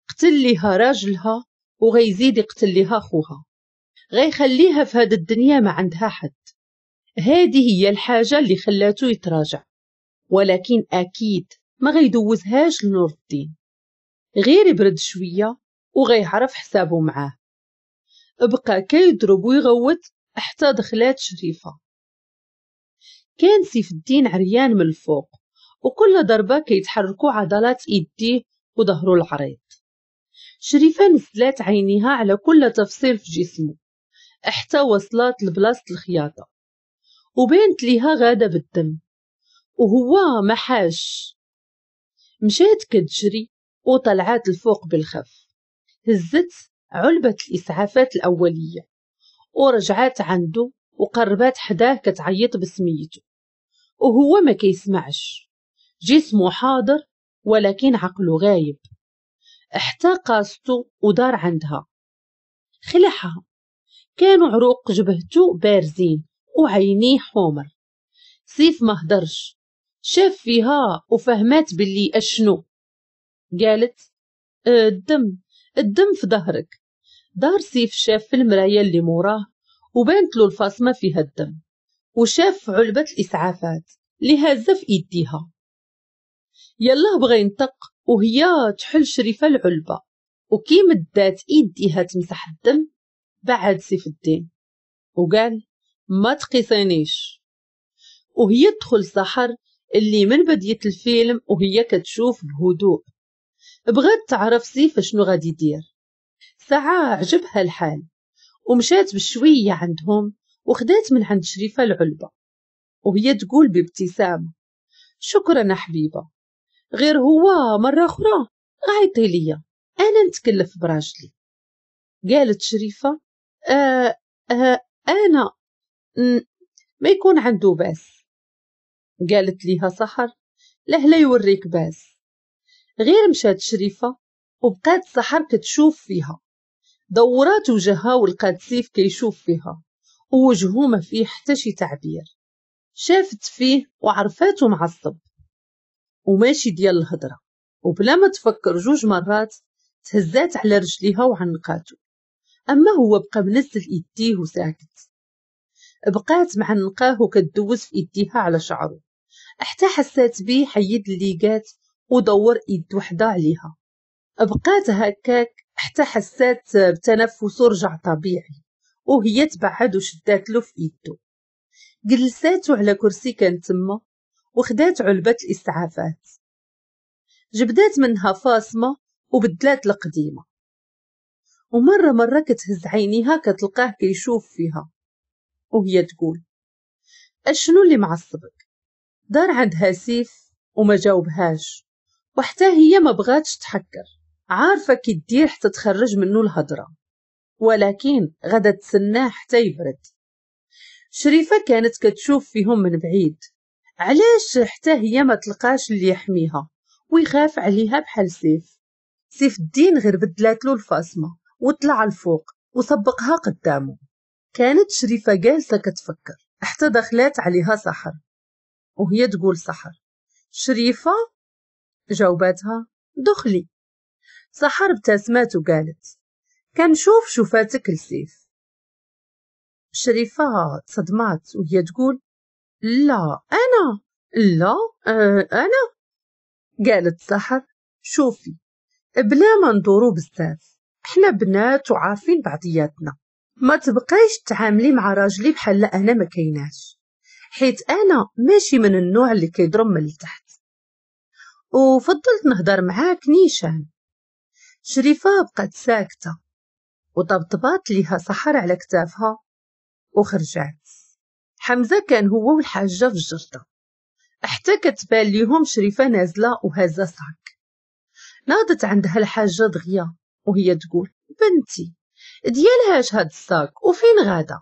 قتل ليها راجلها وغيزيد يقتل ليها خوها، غيخليها في هاد الدنيا ما عندها حد. هذه هي الحاجة اللي خلاته يتراجع، ولكن أكيد ما غيدوزهاش لنور الدين، غير يبرد شوية وغيعرف حسابه معاه. بقى كيضرب ويغوت حتى دخلات شريفة. كان سيف الدين عريان من الفوق، وكل ضربة كيتحركوا عضلات ايديه وظهره العريض. شريفة نزلات عينيها على كل تفصيل في جسمه حتى وصلت لبلاصة الخياطة، وبانت ليها غادة بالدم وهو ما حاش. مشات كتجري وطلعات الفوق بالخف، هزت علبة الإسعافات الأولية ورجعات عنده وقربات حداه كتعيط بسميته، وهو ما كيسمعش، جسمه حاضر ولكن عقله غايب. حتى قاستو ودار عندها خلعها، كانوا عروق جبهته بارزين وعينيه حمر. سيف ما هدرش، شاف فيها وفهمات باللي اشنو. قالت الدم الدم في ظهرك. دار سيف شاف في المراية اللي موراه وبانت له الفاصمة فيها الدم، وشاف علبة الإسعافات اللي هازة في إيديها. يلا بغى ينطق وهي تحل شريفة العلبة، وكي مدات إيديها تمسح الدم بعد سيف الدين وقال ما تقيسينيش. وهي تدخل سحر اللي من بداية الفيلم وهي كتشوف بهدوء، بغات تعرف سيف شنو غادي يدير. ساعة عجبها الحال ومشات بشوية عندهم وخدات من عند شريفة العلبة وهي تقول بابتسامة شكرا حبيبة، غير هو مرة أخرى غايطي ليا أنا نتكلف براجلي. قالت شريفة آه آه أنا ما يكون عنده باس. قالت ليها سحر له لا يوريك باس. غير مشات شريفة وبقات سحر كتشوف فيها، دورات وجهها ولقات سيف كيشوف فيها ووجهه ما فيه حتى شي تعبير. شافت فيه وعرفاته معصب وماشي ديال الهضرة، وبلا ما تفكر جوج مرات تهزات على رجليها وعنقاته. أما هو بقى منزل إيديه وساكت. بقات معنقاه وكتدوز في إيديها على شعره حتى حسات بيه حيد الليقات ودور إيد وحدة عليها. بقات هكاك حتى حسات بتنفسه رجع طبيعي وهي تبعد وشدات له في إيده. جلساتو على كرسي كان تما وخدات علبة الإسعافات، جبدات منها فاصمة وبدلات القديمة. ومرة مرة كتهز عينيها كتلقاه كيشوف فيها وهي تقول اشنو اللي معصبك؟ دار عندها سيف وما جاوبهاش، وحتى هي ما بغاتش تحكر، عارفة كي دير حتى تخرج منه الهضرة، ولكن غدا تسناه حتى يبرد. شريفة كانت كتشوف فيهم من بعيد، علاش حتى هي ما تلقاش اللي يحميها ويخاف عليها بحال سيف. سيف الدين غير بدلات له الفاصمة وطلع الفوق وسبقها قدامه. كانت شريفة جالسة كتفكر حتى دخلات عليها سحر وهي تقول سحر شريفة؟ جاوباتها دخلي. سحر ابتسمات وقالت كنشوف شوفاتك لسيف. شريفة تصدمات وهي تقول لا أنا لا أه أنا. قالت سحر شوفي بلا ما ندورو بزاف، احنا بنات وعارفين بعضياتنا، ما تبقايش تعاملي مع راجلي بحال انا ما كايناش، حيت انا ماشي من النوع اللي كيضرب من التحت، وفضلت نهضر معاك نيشان. شريفة بقات ساكتة وطبطبات ليها سحر على كتافها وخرجات. حمزة كان هو والحاجة في الجردة حتى كتبان ليهم شريفة نازلة وهازة sac. ناضت عندها الحاجة دغيا وهي تقول بنتي ديالهاش هاد ال sac وفين غادا؟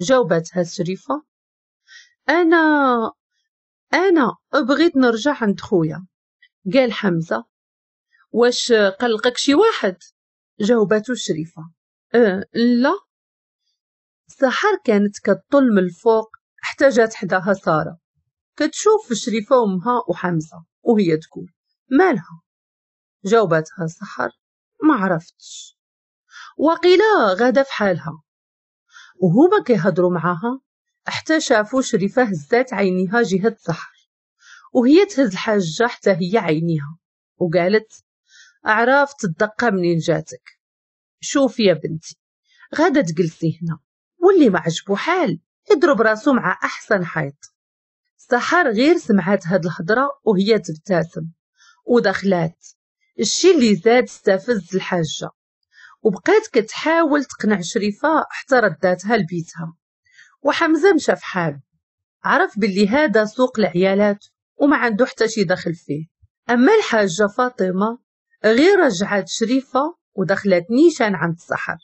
جاوبتها شريفة أنا أنا بغيت نرجع عند خويا. قال حمزة واش قلقك شي واحد؟ جاوبته شريفة أه لا. سحر كانت كتطل من الفوق حتى جات حداها سارة كتشوف في شريفة وامها وحمزة وهي تقول مالها؟ جاوبتها سحر ما عرفتش، وقيلا غادا في حالها. وهما كيهضروا معاها حتى شافوا شريفة هزات عينيها جهة سحر وهي تهز الحاجة حتى هي عينيها وقالت عرفت الدقة منين جاتك. شوفي يا بنتي غادا تجلسي هنا واللي ما عجبو حال يضرب راسو مع أحسن حيط. سحر غير سمعات هاد الهضرة وهي تبتسم ودخلات، الشي اللي زاد استفز الحاجة، وبقات كتحاول تقنع شريفة حتى رداتها لبيتها. وحمزة مشى في حاله، عرف باللي هذا سوق العيالات وما عنده حتى شي دخل فيه. أما الحاجة فاطمة غير رجعت شريفة ودخلت نيشان عند السحر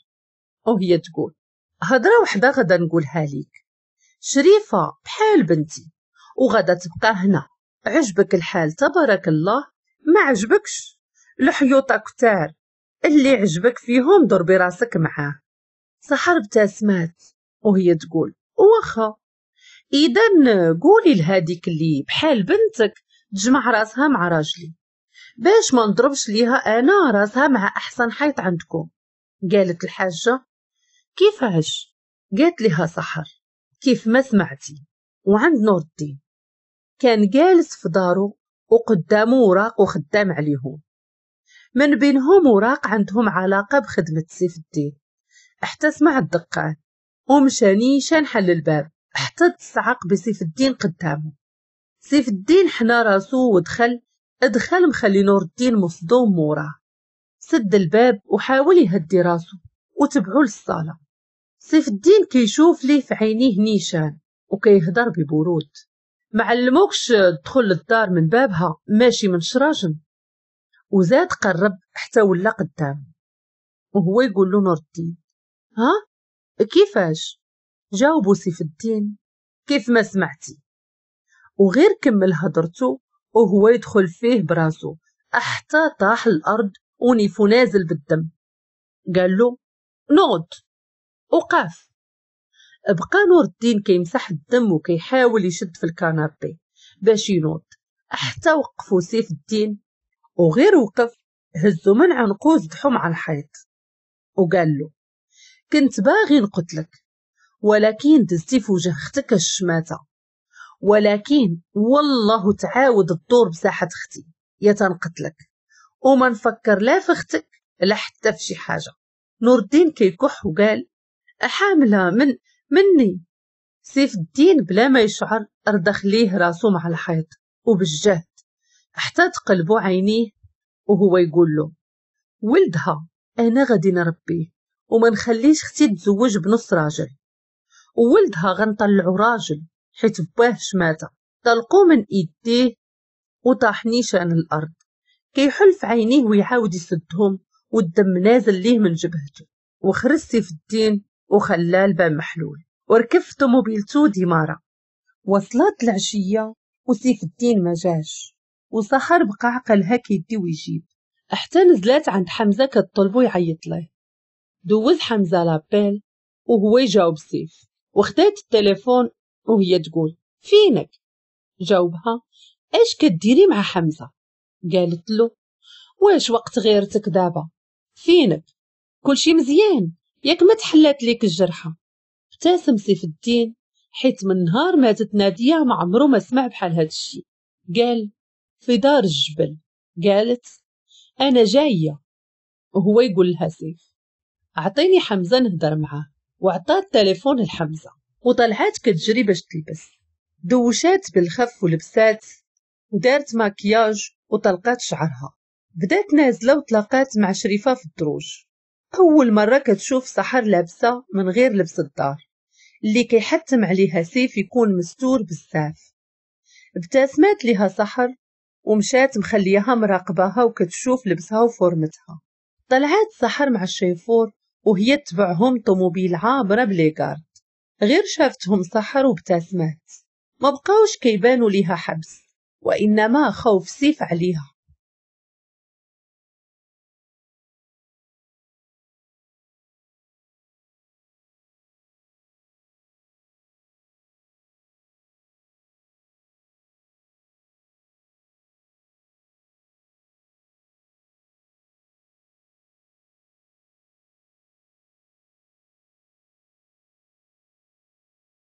وهي تقول هضرة وحدة غدا نقولها ليك، شريفة بحال بنتي وغدا تبقى هنا، عجبك الحال تبارك الله، ما عجبكش الحيوطة كتار، اللي عجبك فيهم ضربي راسك معاه. سحر ابتسمات وهي تقول واخا، اذا قولي لهاديك اللي بحال بنتك تجمع راسها مع راجلي باش ما نضربش ليها انا راسها مع احسن حيط عندكم. قالت الحاجه كيفاش؟ قالت لها سحر كيف ما سمعتي. وعند نور الدين كان جالس في دارو وقدامه وراق وخدام عليهم، من بينهم وراق عندهم علاقة بخدمة سيف الدين، حتى سمع الدقان ومشى نيشان حل الباب حتى تصعق بسيف الدين قدامه. سيف الدين حنى راسو ودخل، ادخل مخلي نور الدين مصدوم موراه. سد الباب وحاول يهدي راسو وتبعو للصالة. سيف الدين كيشوف ليه في عينيه نيشان وكيهضر ببرود، معلموكش تدخل للدار من بابها ماشي من شراجم. وزاد قرب حتى ولا قدامه وهو يقول له نور الدين ها كيفاش؟ جاوبو سيف الدين كيف ما سمعتي. وغير كمل هضرته وهو يدخل فيه براسو حتى طاح الارض ونيفو نازل بالدم. قال له نوض وقف. بقى نور الدين كيمسح الدم وكيحاول يشد في ال canapé باش ينوض حتى وقفو سيف الدين، وغير وقف هزو من عنقو زدحو مع الحيط وقال له كنت باغي نقتلك ولكن دزتي في وجه اختك الشماتة، ولكن والله تعاود الدور بساحة اختي يا تنقتلك وما نفكر لا في اختك لا حتى في شي حاجة. نور الدين كيكح وقال حاملة من مني. سيف الدين بلا ما يشعر ردخ ليه راسو مع الحيط وبالجهد حتى تقلبو عينيه وهو يقول له ولدها انا غادي نربيه وما نخليش اختي تزوج بنص راجل، وولدها غنطلعو راجل حيت باه شماتة. طلقو من ايديه وطاح نيشان الارض كيحل في عينيه ويعاود يسدهم والدم نازل ليه من جبهته. وخرج سيف الدين وخلاه الباب محلول وركب في طوموبيلتو démarra. وصلت العشية وسيف الدين ما جاش، وسحر بقى عقلها كيدي ويجيب حتى نزلات عند حمزة كطلبو يعيط له. دوز حمزة l'appel وهو يجاوب سيف، وخدات التليفون وهي تقول فينك؟ جاوبها اش كديري مع حمزة؟ قالت له واش وقت غيرتك دابا؟ فينك؟ كلشي مزيان ياك ما تحلات ليك الجرحه؟ ابتسم سيف الدين حيت من نهار ماتت ناديه ما عمرو ما سمع بحال هاد الشيء. قال في دار الجبل. قالت انا جاية. وهو يقول لها سيف اعطيني حمزة نهضر معاه، وعطات التليفون لحمزة وطلعات كتجري باش تلبس. دوشات بالخف ولبسات ودارت ماكياج وطلقات شعرها. بدات نازله وتلاقات مع شريفه في الدروج. اول مرة كتشوف سحر لابسه من غير لبس الدار اللي كيحتم عليها سيف يكون مستور بزاف. ابتسمات لها سحر ومشات مخليها مراقباها وكتشوف لبسها وفورمتها. طلعات سحر مع الشيفور وهي تبعهم طوموبيل عابرة ب les gardes. غير شافتهم سحر وابتسمات، ما بقاوش كيبانوا ليها حبس وإنما خوف سيف عليها.